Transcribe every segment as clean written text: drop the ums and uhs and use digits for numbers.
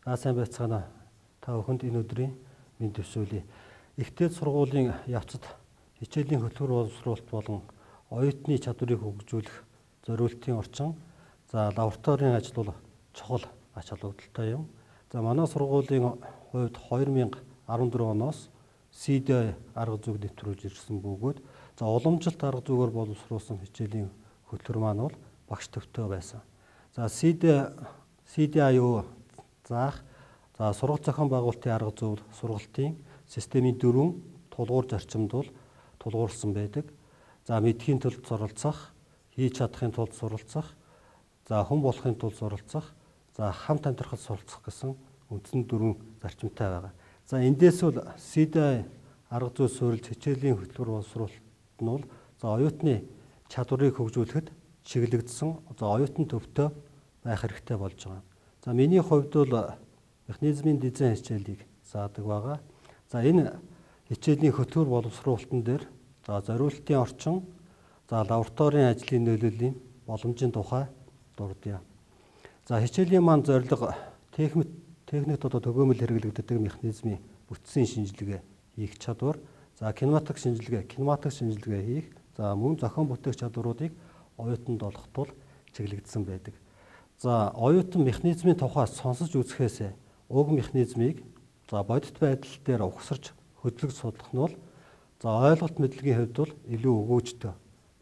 Сайн байцгаана. Та бүхэнд энэ өдрийн мэнд төсөөлье. Ихтэй сургуулийн явцад хичээлийн хөтөлбөр боловсруулалт болон оюутны чадварыг хөгжүүлэх зориултын орчин. Лабораторийн ажил бол чухал ач холбогдолтой юм. Манай сургуулийн хувьд 2014 оноос CDI арга зүйг нэвтрүүлж ирсэн бөгөөд уламжилт арга зүйгээр боловсруулсан хичээлийн хөтөлбөр маань бол багш төвтэй байсан. CDI юу заах сургалт зохион байгуулалтын арга зүй сургалтын системийн 4 тулгуур зарчимд бол тулгуурласан байдаг. Мэдхийн тулд суралцах, хийж чадахын тулд суралцах, хүн болохын тулд суралцах, хамт амьдрахад суралцах гэсэн үндсэн 4 зарчимтай байгаа. Эндээс бол CDI арга зүй суурилж хичээлийн хөтөлбөр боловсруулалт нь бол оюутны чадварыг хөгжүүлэхэд чиглэгдсэн оюутан төвтэй байх хэрэгтэй болж байгаа. Миний хувьд бол механизмын дизайн хичээлийг заадаг байгаа. Энэ хичээлийн хөтөлбөр боловсруулалтын дээр зориултын орчин, лабораторийн ажлын нөлөөлийн боломжийн тухай дурдъя. Хичээлийн маань зорилго техникт төгөөмөл хэрэглэгддэг механизмын бүтцийн шинжилгээ хийх чадвар, кинематик шинжилгээ хийх, мөн зохион бүтээх чадваруудыг оюутанд олгох тул чиглэгдсэн байдаг. Оюутан механизмын тухай сонсож үзэхээс уг механизмыг бодит байдал дээр угсарч хөдлөж судлах нь бол ойлголт мэдлэгийн хувьд бол илүү өгөөжтэй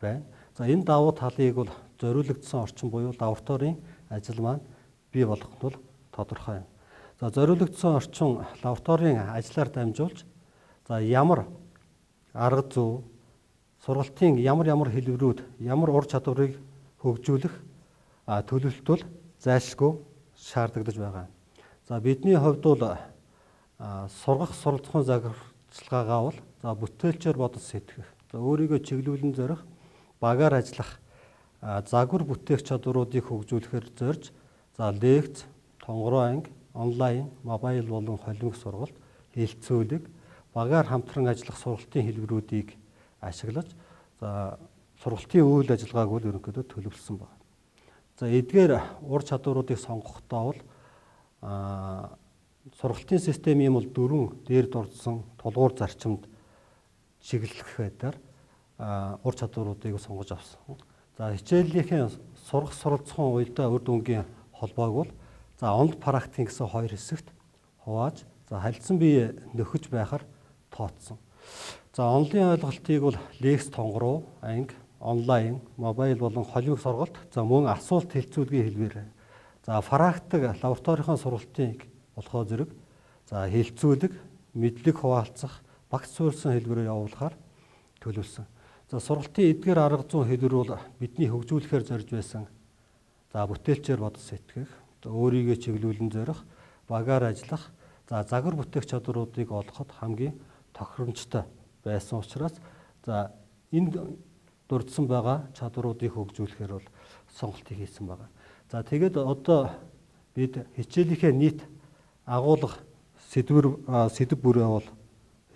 байна. Энэ давуу талыг бол зориулагдсан орчин буюу лабораторийн ажил маань бий болгох нь бол тодорхой юм. Зориулагдсан орчин лабораторийн ажлаар дамжуулж ямар арга зүй, сургалтын ямар хэлбэрүүд, ямар ур чадварыг хөгжүүлэх төлөвлөлт бол зайлшгүй шаардагдаж байгаа. Бидний хувьд бол сургах суралцахын захирчлагаагаа бол бүтээлчээр бодож сэтгэх, өөрийгөө чиглүүлэн зорих, багаар ажиллах, загвар бүтээх чадваруудыг хөгжүүлэхээр зорж лекц, тонгороо анги, онлайн, мобайл болон холимог сургалт, хэлэлцүүлэг, багаар хамтран ажиллах сургалтын хэлбэрүүдийг ашиглаж сургалтын үйл ажиллагааг бол ерөнхийдөө төлөвлөсөн байна. Эдгээр ур чадваруудыг сонгохдоо бол сургалтын системийн бол 4 дээр дурдсан тулгуур зарчимд чиглэх байдлаар ур чадваруудыг сонгож авсан. Хичээлийнхээ сурах суралцахын уялдаа үр дүнгийн холбоог бол онл практик гэсэн 2 хэсэгт хувааж харилцан бие нөхөж байхаар тооцсон. Онлын ойлголтыг бол лекц, тонгороо, анги, онлайн, мобайл болон холимог сургалт, мөн асуулт хэлцүүлгийн хэлбэр. Практик лабораторийн сургалтыг болохоо зэрэг хэлцүүлэг, мэдлэг хуваалцах, багц суурьсан хэлбэрээр явуулахаар төлөвлөсөн. Сургалтын эдгээр арга зүйн хэлбэр бол бидний хөгжүүлэхээр зорж байсан бүтээлчээр бодож сэтгэх, өөрийгөө чиглүүлэн зорих, багаар ажиллах, загвар бүтээх чадваруудыг олгоход хамгийн тохиромжтой байсан учраас энэ дурдсан байгаа чадваруудыг хөгжүүлэхээр бол сонголтыг хийсэн байгаа. Тэгээд одоо бид хичээлийнхээ нийт агуулга сэдв бүрээ бол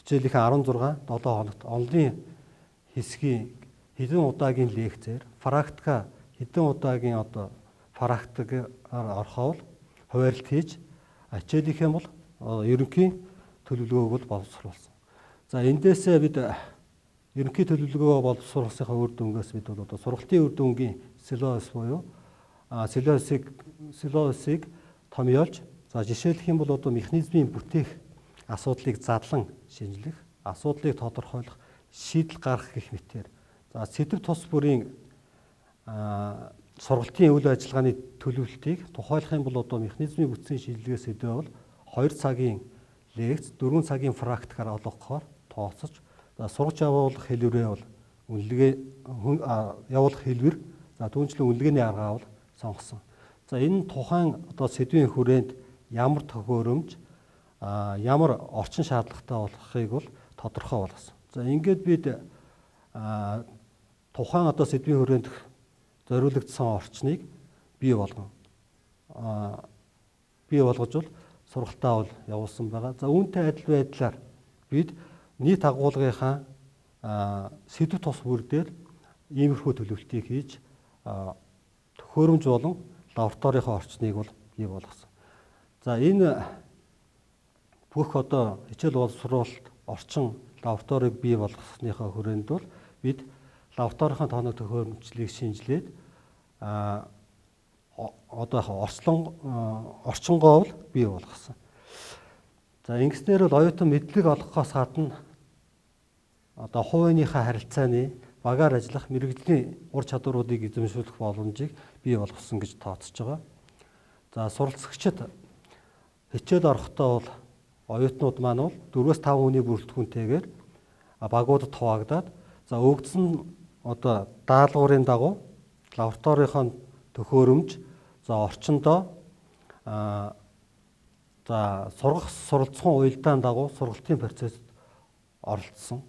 хичээлийнхээ 16 7 хоногт онлын хэсгийн хэдэн удаагийн лекцээр, практика хэдэн удаагийн практикаар орхоод хуваарлт хийж хичээлийнхээ бол ерөнхий төлөвлөгөөг бол боловсруулсан. Эндээсээ бид ерөнхий төлөвлөгөөгөө боловсруулсныхаа үр дүнгээс бид бол сургалтын үр дүнгийн силоос буюу силоосыг томьёолж, жишээлх юм бол механизмын бүтээх асуудлыг задлан шинжлэх, асуудлыг тодорхойлох, шийдэл гаргах гэх мэтээр сэдв тус бүрийн сургалтын үйл ажиллагааны төлөвлөлтийг тухайлах юм бол механизмын бүтцийн шинжилгээс өдөө бол 2 цагийн лекц, 4 цагийн практикаар олгохоор тооцож, сурч явуулах хэлбэрээ бол явуулах хэлбэр, түүнчлэн үнэлгээний аргаа бол сонгосон. Энэ тухайн сэдвийн хүрээнд ямар төхөөрөмж, ямар орчин шаардлагатай болохыг бол тодорхой болгосон. Ингээд бид тухайн сэдвийн хүрээнд зориулагдсан орчныг бий болгож бол сургалтаа бол явуулсан байгаа. Үүнтэй адил байдлаар бид нийт агуулгынхаа сэдв тус бүр дээр иймэрхүү төлөвлөлтийг хийж төхөөрөмж болон лабораторийн орчныг бол бий болгосон. За энэ бүх одоо хичээл боловсруулалт орчин лабораторийг бий болгосныхаа хүрээнд бол бид лабораторийн тооног төхөөрөмжлөлийг шинжилээд одоо орчингоо бол бий болгосон. За ингэснээр бол оюутан мэдлэг олгохоос гадна одоо хувийнхаа харилцааны багаар ажиллах мэрэгжлийн ур чадваруудыг эзэмшүүлэх боломжийг бий болгосон гэж тооцож байгаа. За суралцагчид хичээл орохдоо бол оюутнууд маань бол 4-5 хүний бүрэлдэхүүнтэйгээр багуудад хуваагдаад за өгдсөн одоо даалгаврын дагуу лабораторийн төхөөрөмж за орчиндоо за сургах суралцсан уялдаан дагуу сургалтын процессд оролцсон.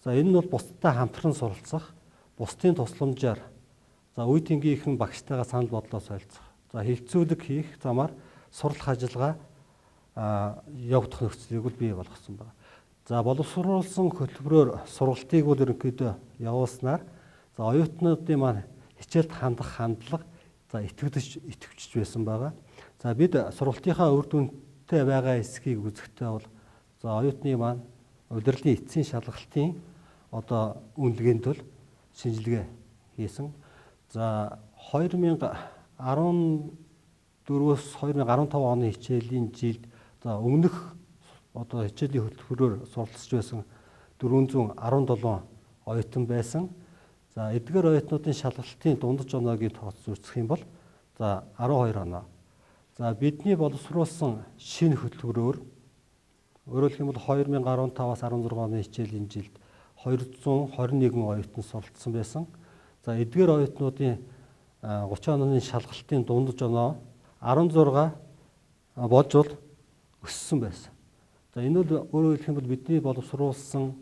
За энэ нь бол бусдтай хамтран суралцах, бусдын тусламжаар за үе тэнгийнхэн багштайгаа санал бодлоо солилцох. За хилцүүлэг хийх замаар сурлах ажиллагаа явагдах нөхцөлийг бол бий болгосон байна. За боловсруулсан хөтөлбөрөөр сургалтыг бол ерөнхийдөө явуулснаар за оюутнуудын маань хичээлд хандах хандлага за итгэвчж байсан байгаа. За бид сургалтынхаа үр дүнтэй байгаа эсхийг үзэхдээ бол за оюутны маань удирдлын эцсийн шалгалтын одоо үнэлгээнд бол шинжилгээ хийсэн. За 2014-өөс 2015 оны хичээлийн жилд за өмнөх одоо хичээлийн хөтөлбөрөөр суралцж байсан 417 оюутан байсан. За эдгээр оюутнуудын шалгалтын дундаж оноогийн тооцоо үзэх юм бол за 12 оноо. За бидний боловсруулсан шинэ хөтөлбөрөөр өөрөөр хэлэх юм бол 2015-аас 16 оны хичээлийн жилд 221 оюутан суралцсан байсан. За эдгээр оюутнуудын 30 онооны шалгалтын дундаж оноо 16 болж бол өссөн байсан. За энэ бол өөрөөр хэлэх юм бол бидний боловсруулсан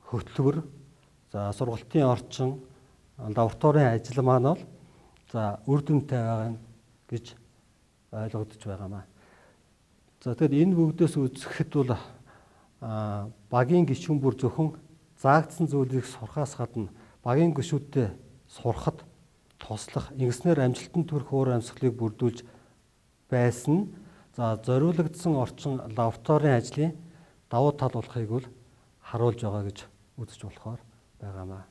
хөтөлбөр за сургалтын орчин лабораторийн ажил маань бол за үр дүнтэй байгаа гэж ойлгогдож байгаамаа. За тэгэхээр энэ бүгдээс үзэхэд бол багийн гишүүн бүр зөвхөн заагдсан зүйлийг сурахаас гадна багийн гишүүдтэй сурахад туслах, ингэснээр амжилтанд хүрэх уур амьсгалыг бүрдүүлж байсан. За зориулагдсан орчин лабораторийн ажлын давуу тал болохыг бол харуулж байгаа гэж үзэж болохоор байгаамаа.